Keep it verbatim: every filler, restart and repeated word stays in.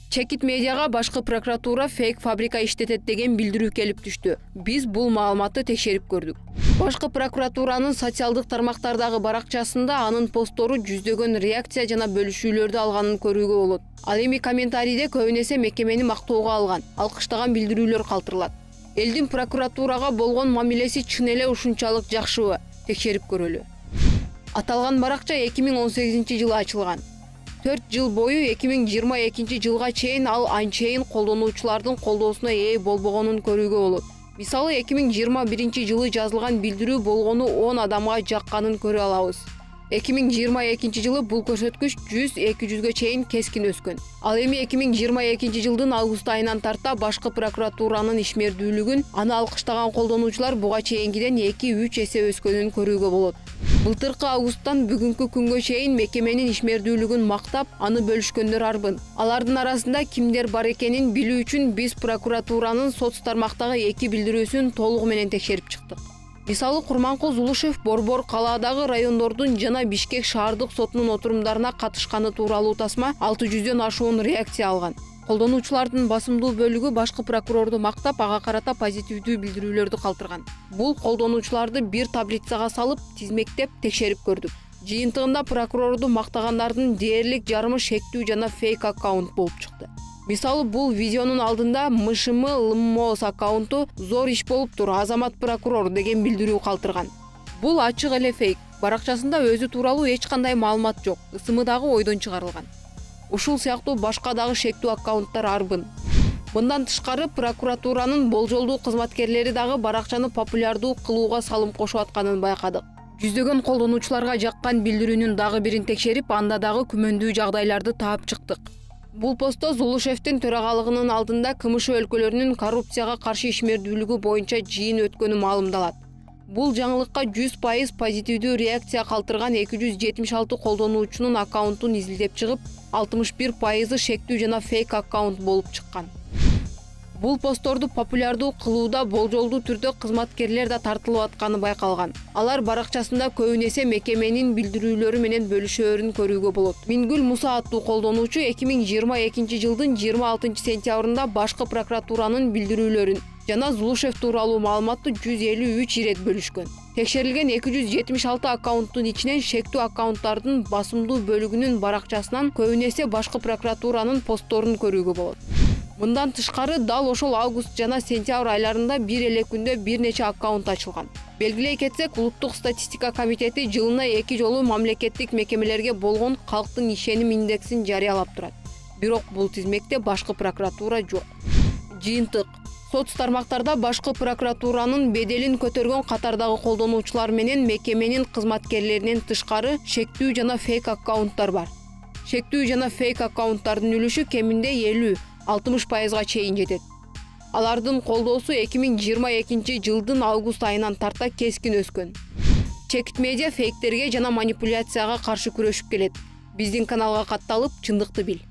Чекит медиага башкы прокуратура фейк фабрика иштетет деген билдирүү келип түштү. Биз бул маалыматты текшерип көрдүк. Башкы прокуратуранын социалдык тармактардагы баракчасында анын посттору жүздөгөн реакция жана бөлүшүүлөрдү алганын көрүүгө болот. Ал эми комментарийде көбүн эсе мекемени мактоого алган, алкыштаган билдирүүлөр калтырылат. Элдин прокуратурага болгон мамилеси чын эле ушунчалык жакшыбы? Текшерип көрөлү. Аталган баракча эки миң он сегизинчи жылы ачылган. төрт жыл бою эки миң жыйырма экинчи жылга чейин ал анчейин колдонуучулардын колдоосуна ээ болбогонун көрүүгө болот. Мисалы эки миң жыйырма биринчи жылы жазылган билдирүү болгону он адамга жакканын көрө алабыз. эки миң жыйырма экинчи жылы бул көрсөткүч жүз эки жүзгө чейин кескин өскөн. Ал эми эки миң жыйырма экинчи жылдын август айынан тарта башкы прокуратуранын ишмердүүлүгүн, аны алкыштаган колдонуучулар буга чейинкиден эки үч эсе өскөнүн көрүүгө болот. Былтыркы августтан бүгүнкү күнгө чейин мекеменин ишмердүүлүгүн мактап, аны бөлүшкөндөр арбын. Алардын арасында кимдер бар экенин билүү үчүн биз прокуратуранын соц тармактагы эки билдирүүсүн толугу менен текшерип чыктык. Мисалы Курманкул Зулушев Борбор калаадагы райондордун жана Бишкек шаардык сотунун отурумдарына катышканы тууралуу тасма алты жүздөн ашуун реакция алган. Колдонуучулардын басымдуу бөлүгү башкы прокурорду мактап, ага карата позитивдүү билдирүүлөрдү калтырган. Бул колдонуучуларды бир таблицага салып, тизмектеп текшерип көрдүк. Жыйынтыгында прокурорду мактагандардын дээрлик жарымы шектүү жана фейк аккаунт болуп чыкты. Мисалы бул видеонун алдында МШМ Лммос аккаунту зор иш болуптур, Азамат прокурор деген билдирүү калтырган. Бул ачык эле фейк. Баракчасында өзү тууралуу эч кандай маалымат жок. Ысымы дагы ойдон чыгарылган. Ушул сыяктуу башка дагы шектүү аккаунттар арбын. Мындан тышкары прокуратуранын болжолдуу кызматкерлери дагы баракчаны популярдуу кылууга салым кошуп атканын байкадык. Жүздөгөн колдонуучуларга жаккан билдирүүнүн дагы бирин текшерип, анда дагы күмөндүү жагдайларды таап чыктык. Бул постто Зулушевдин төрагалыгынын алдында КМШ өлкөлөрүнүн коррупцияга каршы ишмердүүлүгү боюнча жыйын өткөнү маалымдалат. Бул жаңылыкка жүз пайыз позитивдүү реакция калтырган эки жүз жетимиш алты колдонуучунун аккаунтун изилдеп чыгып, алтымыш бир пайызы шектүү жана фейк аккаунт болуп чыккан. Бул постторду популярдуу кылууда болжолдуу түрдө кызматкерлер да тартылып атканы байкалган. Алар баракчасында көбүн эсе мекеменин билдирүүлөрү менен бөлүшөөрүн көрүүгө болот. Мингүл Муса аттуу колдонуучу эки миң жыйырма экинчи жылдын жыйырма алтынчы сентябрында башкы прокуратуранын билдирүүлөрүн жана Зулушев тууралуу маалыматты жүз элүү үч ирет бөлүшкөн. Текшерилген эки жүз жетимиш алты аккаунттун ичинен шектүү аккаунттардын басымдуу бөлүгүнүн баракчасынан көбүн эсе башкы прокуратуранын постторун көрүүгө болот. Мындан тышкары дал ошол август жана сентябрь айларында бир эле күндө бир нече аккаунт ачылган. Белгилей кетсек, Улуттук статистика комитети жылына эки жолу мамлекеттик мекемелерге болгон калктын ишеним индексин жарыялап турат. Бирок бул тизмекте башкы прокуратура жок. Жыйынтык: соц тармактарда башкы прокуратуранын беделин көтөргөн катардагы колдонуучулар менен мекеменин кызматкерлеринен тышкары шектүү жана фейк аккаунттар бар. Шектүү жана фейк аккаунттардын үлүшү кеминде элүү алтымыш пайызга чейин жетет. Алардын колдоосу эки миң жыйырма экинчи жылдын август айынан тарта кескин өскөн. Чекит медиа фейктерге жана манипуляцияга каршы күрөшүп келет. Биздин каналга катталып, чындыкты бил.